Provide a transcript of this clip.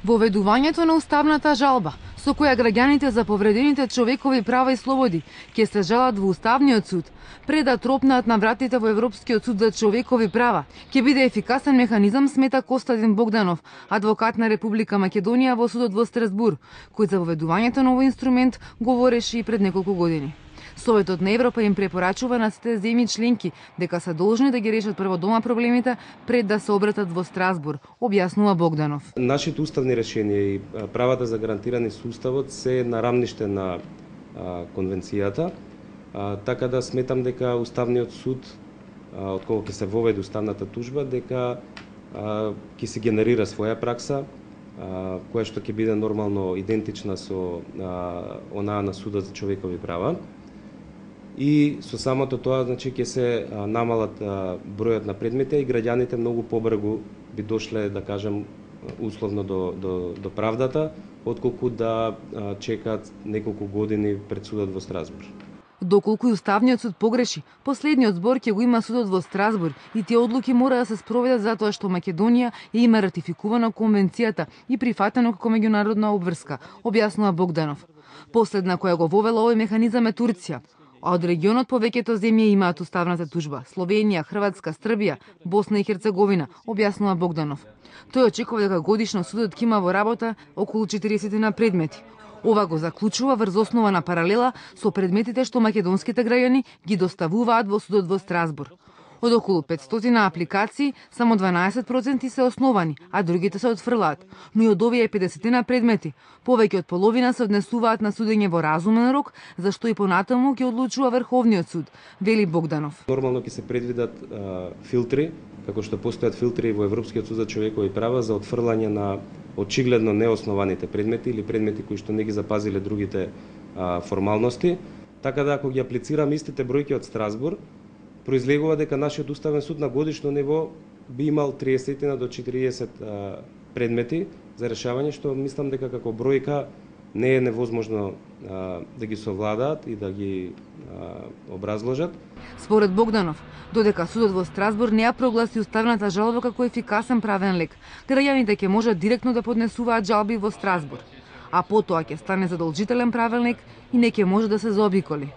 Воведувањето на уставната жалба, со која граѓаните за повредените човекови права и слободи ќе се жалат во Уставниот суд, пред да тропнат на вратите во Европскиот суд за човекови права, ќе биде ефикасен механизам, смета Костадин Богданов, адвокат на Република Македонија во судот во Страсбур, кој за воведувањето на овој инструмент говореше и пред неколку години. Советот на Европа им препорачува на сите земји членки дека се должни да ги решат прво дома проблемите пред да се обратат во Страсбур, објаснува Богданов. Нашите уставни решенија и правата за гарантирани со уставот се на рамниште на конвенцијата, така да сметам дека Уставниот суд, откога ќе се воведе уставната тужба, дека ќе се генерира своја пракса, која што ќе биде нормално идентична со онаа на Судот за човекови права. И со самото тоа, значи, ќе се намалат бројот на предмети и граѓаните многу побрзо би дошле, да кажем, условно до правдата, отколку да чекаат неколку години пред судот во Страсбур. Доколку и Уставниот суд погреши, последниот збор ќе го има судот во Страсбур и тие одлуки мора да се спроведат затоа што Македонија има ратификувана конвенцијата и прифатено како меѓународна обврска, објаснува Богданов. Последна која го вовела овој механизам е Турција. А од регионот повеќето земји имаат уставната тужба: Словенија, Хрватска, Србија, Босна и Херцеговина, објаснува Богданов. Тој очекува дека годишно судот ќе има во работа околу 40 на предмети. Ова го заклучува врз основа на паралела со предметите што македонските граѓани ги доставуваат во судот во Страсбур. Од околу 500 апликации, само 12% се основани, а другите се отфрлаат. Но и од овие 50 предмети, повеќе од половина се однесуваат на судење во разумен рок, зашто и понатаму ќе одлучува Врховниот суд, вели Богданов. Нормално ќе се предвидат филтри, како што постојат филтри во Европскиот суд за човекови права за отфрлање на очигледно неоснованите предмети или предмети кои што не ги запазиле другите формалности. Така да ако ги аплицираме истите бројки од Страсбур, произлегува дека нашиот уставен суд на годишно ниво би имал 30 до 40 предмети за решавање, што мислам дека како бројка не е невозможно да ги совладаат и да ги образложат. Според Богданов, додека судот во Страсбур не ја прогласи уставната жалба како ефикасен правен лек, граѓаните ќе можат директно да поднесуваат жалби во Страсбур, а потоа ќе стане задолжителен правен лек и не ќе може да се заобиколи.